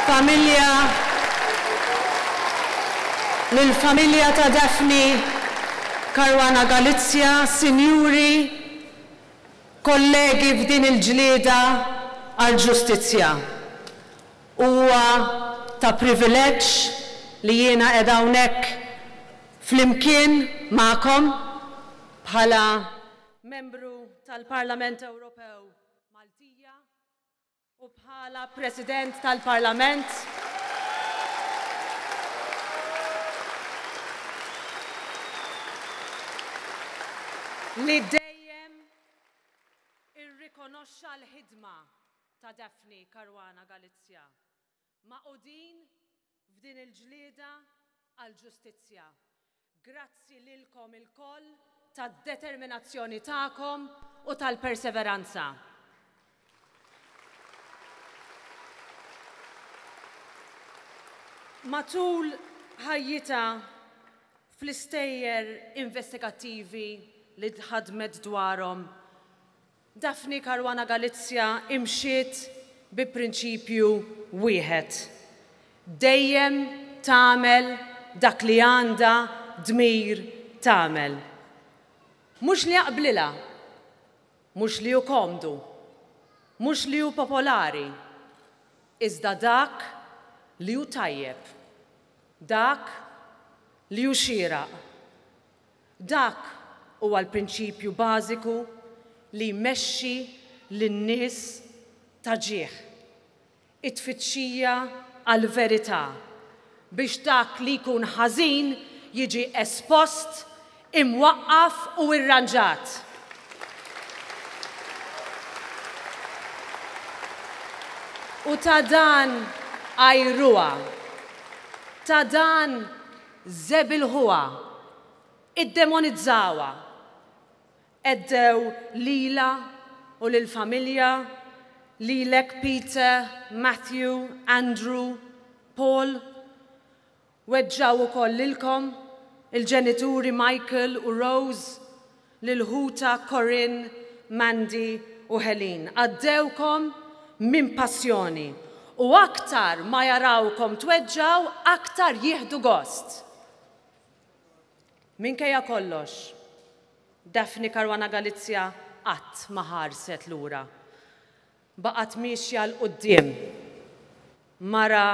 Familja, lill-familja ta' Daphne Caruana Galizia, sinjuri, kollegi f'din il-ġlieda għall-ġustizzja. Huwa ta' privileġġ li jiena qiegħda hawnhekk flimkien magħkom bħala Membru tal-Parlament Ewropew Maltija u bħala President tal-Parlament. Li dejjem irrikonoxxa l-ħidma ta' Daphne Caruana Galizia, magħqudin f'din il-ġlieda għall-ġustizzja. Grazzi lilkom ilkoll tad-determinazzjoni tagħkom u tal-perseveranza. Matul ħajjitha fl-istejjer investigattivi li ħadmet dwarhom, Daphne Caruana Galizia imxiet bi prinċipju wieħed, dejjem tagħmel dak li għandha dmir tagħmel. Mhux li jaqblilha, mhux li hu komdu, mhux li hu popolari, iżda dak li hu tajjeb, dak li hu xieraq. Dak huwa l-prinċipju bażiku li jmexxi lin-nies ta' ġieħ, it-tfittxija għall-verità biex dak li jkun ħażin jiġi espost, imwaqqaf u irranġat. U ta' dan għajruha, ta' dan żebilħuha, iddemonizzawha, għeddew lilha u lill-familja, lilek Peter, Matthew, Andrew, Paul. Weġġgħu wkoll lilkom, il-ġenituri Michael u Rose, lil ħutha Corinne, Mandy u Helene. Għaddewkom minn passjoni u aktar ma jarawkom tweġġgħu aktar jieħdu gost. Minkejja kollox, Daphne Caruana Galizia qatt ma ħarset lura. Baqgħet miexja 'l quddiem. Mara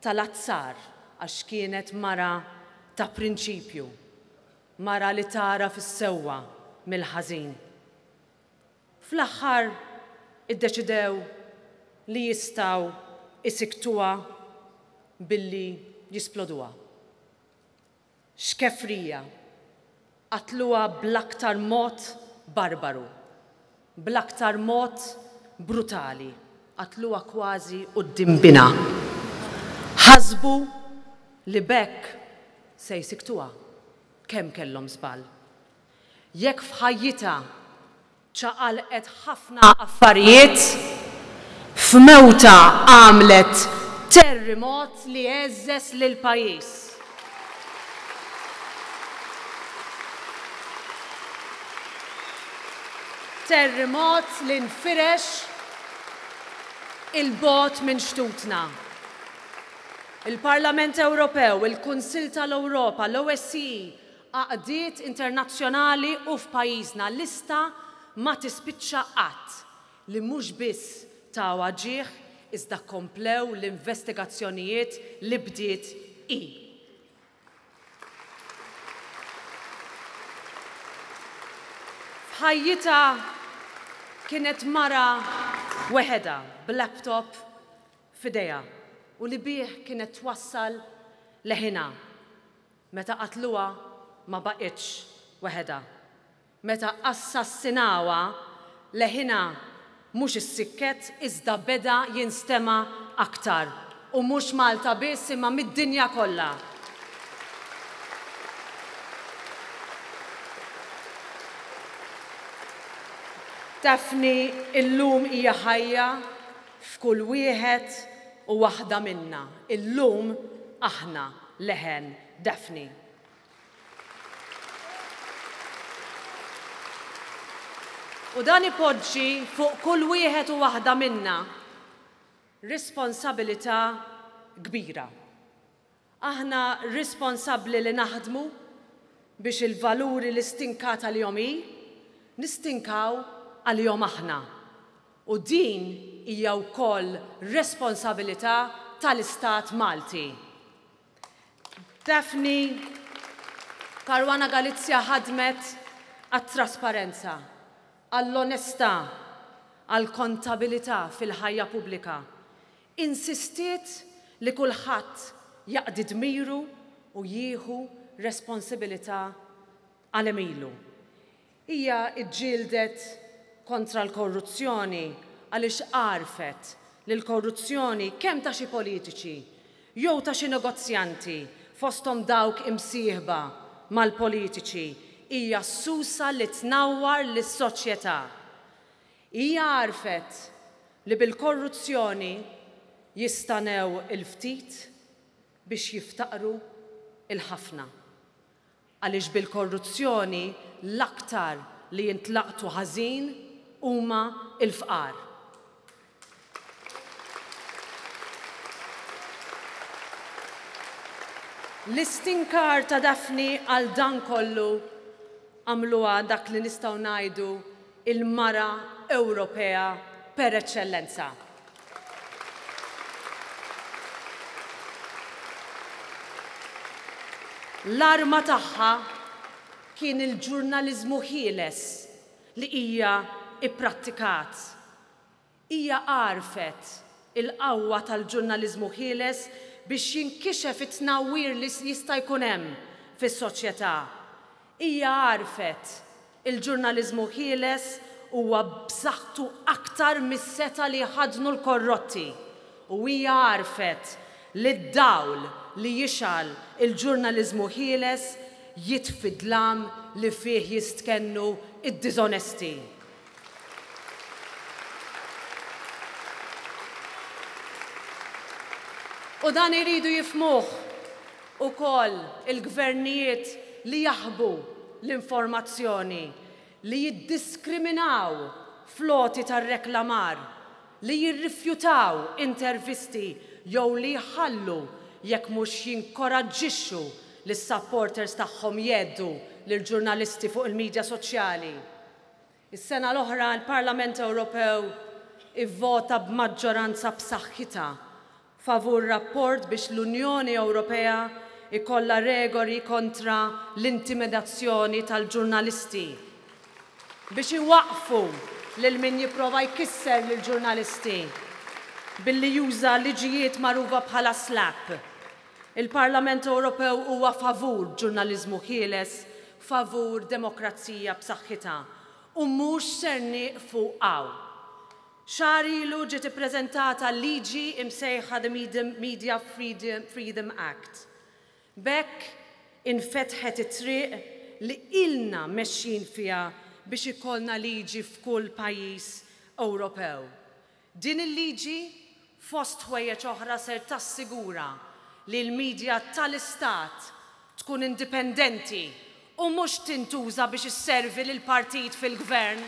tal-azzar għax kienet mara ta' prinċipju. Mara li tagħraf is-sewwa mill-ħażin. Fl-aħħar iddeċidew li jistgħu jsikktuha billi jisploduha. X'kefrija! Qatluha bl-aktar mod barbaru, bl-aktar mod brutali, qatluha kważi quddiem binha. Ħasbu li b'hekk se jsikktuha. Kemm kellhom żball! Jekk f'ħajjitha ċaqalqet ħafna affarijiet, f'mewtha għamlet terrimot li għeżżeż lill-pajjiż. Terrimot li nfirex 'il bogħod minn xtutna. Il-Parlament Ewropew, il-Kunsill tal-Ewropa, l-OSCE, għaqdiet internazzjonali u f'pajjiżna lista ma tispiċċa qatt li mhux biss tawha ġieħ iżda komplew l-investigazzjonijiet li bdiet hi. F'ħajjitha kienet mara weħedha b'laptop f'idejha u li bih kienet twassal leħinha. Meta qatluha ma baqgħitx weħedha. Meta assassinawha, leħinha mhux issikket iżda beda jinstema' aktar u mhux Malta biss imma mid-dinja kollha. Daphne illum hija ħajja f'kull wieħed u waħda minna. Illum aħna leħen Daphne. U dan ipoġġi fuq kull wieħed u waħda minna. responsabilità kbira. Aħna responsabbli li naħdmu biex il-valuri li stinkat għalihom hi, nistinkaw għalihom aħna. U din hija wkoll responsabilità tal-Istat Malti. Daphne Caruana Galizia ħadmet għat-trasparenza, għall-onestà, għall-kontabilità fil-ħajja pubblika. Insistiet li kulħadd jaqdi dmiru u jieħu responsibilità għal għemilu. Hija ġġieldet kontra l-korruzzjoni għaliex għarfet li l-korruzzjoni kemm ta' xi politiċi jew ta' xi negozjanti fosthom dawk imsieħba mal-politiċi hija s-susa li tnawwar lis-soċjetà. Hija għarfet li bil-korruzzjoni jistagħnew il-ftit biex jiftaqru l-ħafna. Għaliex bil-korruzzjoni l-aktar li jintlaqtu ħażin huma l-fqar. L-istinkar ta' Daphne għal dan kollu għamluha dak li nistgħu ngħidu il-mara Ewropea per eċċellenza. L-arma tagħha kien il-ġurnaliżmu ħieles li hija ipprattikat. Hija għarfet il-qawwa tal-ġurnaliżmu ħieles biex jinkixef it-tnawwir li jista' jkun hemm fis-soċjetà. Hija għarfet il-ġurnaliżmu ħieles huwa b'saħħtu aktar mis-setgħa li jħaddnu l-korrotti u hija għarfet li d-dawl li jixgħel il-ġurnaliżmu ħieles jitfi d-dlam li fih jistkennu d-diżonesti. U dan iridu jifhmuh ukoll il-gvernijiet li jaħbu l-informazzjoni, li jiddiskriminaw fl-għoti tar-reklamar, li jirrifjutaw intervisti jew li jħallu jekk mhux jinkoraġġixxu lis-supporters tagħhom jgħeddu lill-ġurnalisti fuq il-midja soċjali. Is-sena l-oħra l-Parlament Ewropew ivvota b'maġġoranza b'saħħitha favur rapport biex l-Unjoni Ewropea jkollha regoli kontra l-intimidazzjoni tal-ġurnalisti, biex iwaqqfu lil min jipprova jkisser lill-ġurnalisti billi juża liġijiet magħrufa bħala SLAPP. Il-Parlament Ewropew huwa favur ġurnaliżmu ħieles, favur demokrazija b'saħħitha u mhux ser nieqfu hawn. Xahar ilu ġiet ippreżentata liġi imsejħa the Media Freedom Act. B'hekk infetħet it-triq li ilna mexjin fiha biex ikollna liġi f'kull pajjiż Ewropew. Din il-liġi, fost ħwejjeġ oħra ser tassigura li l-media tal-istat tkun indipendenti u mhux tintuża biex isservi lill-partit fil-gvern.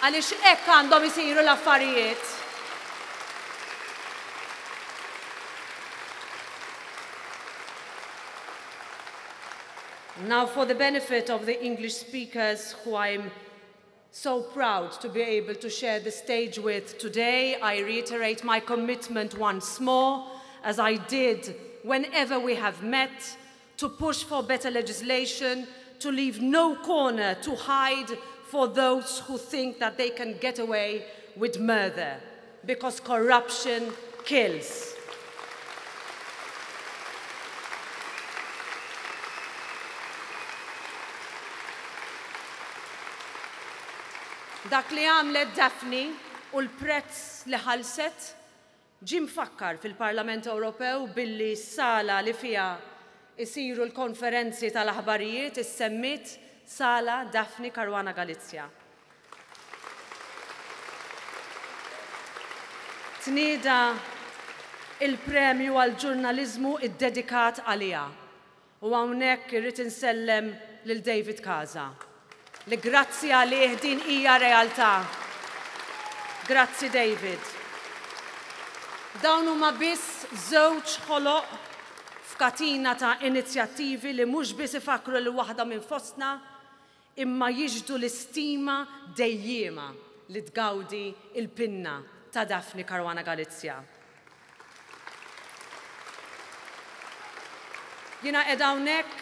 Għaliex hekk għandhom isiru l-affarijiet. Now for the benefit of the English speakers who I'm so proud to be able to share the stage with today, I reiterate my commitment once more, as I did whenever we have met, to push for better legislation, to leave no corner to hide for those who think that they can get away with murder, because corruption kills. Dak li għamlet Daphne u l-prezz li ħallset ġie mfakkar fil-Parlament Ewropew billi s-sala li fiha jsiru l-konferenzi tal-aħbarijiet issemmiet Sala Daphne Caruana Galizia. Tnieda il-premju għall-ġurnaliżmu ddedikat għaliha u hawnhekk irrid insellem lil David Casa li grazzi għalih din hija realtà. Grazzi David. Dawn huma biss żewġ ħoloq f'katina ta' inizjattivi li mhux biss ifakkru lil waħda minn fostna imma jixhdu l-istima dejjiema li tgawdi l-pinna ta' Daphne Caruana Galizia. Jiena qiegħda hawnhekk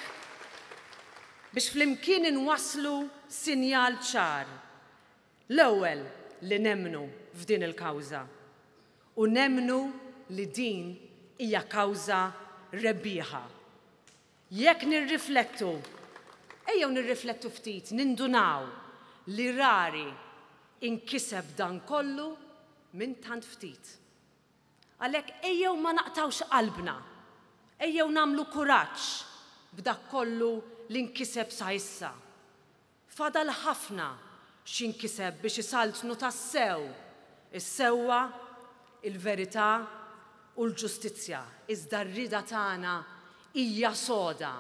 biex flimkien inwasslu sinjal ċar. L-ewwel li nemmnu f'din il-kawża u nemmnu li din hija kawża rebbieħa. Jekk nirriflettu, ejjew nirriflettu ftit, nindunaw li rari inkiseb dan kollu minn tant ftit. Għalhekk ejjew ma naqtgħux qalbna, ejjew nagħmlu kuraġġ b'dak kollu li nkiseb sa issa. Fadal ħafna x'jinkiseb biex isaltnu tassew is-sewwa, il-verità u l-ġustizzja, iżda r-rieda tagħna hija soda,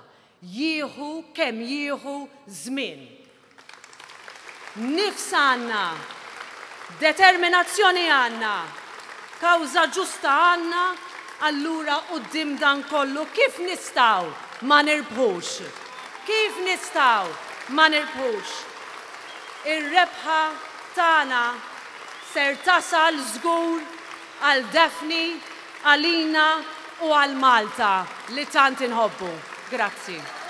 jieħu kemm jieħu żmien. Nifs għandna, determinazzjoni għandna, kawża ġusta għandna, allura quddiem dan kollu kif nistgħu ma nirbħux? Kif nistgħu ma nirbħux? Ir-rebħa tagħna ser tasal żgur għal Daphne, għalina u għal Malta li tant inħobbu. Grazzi.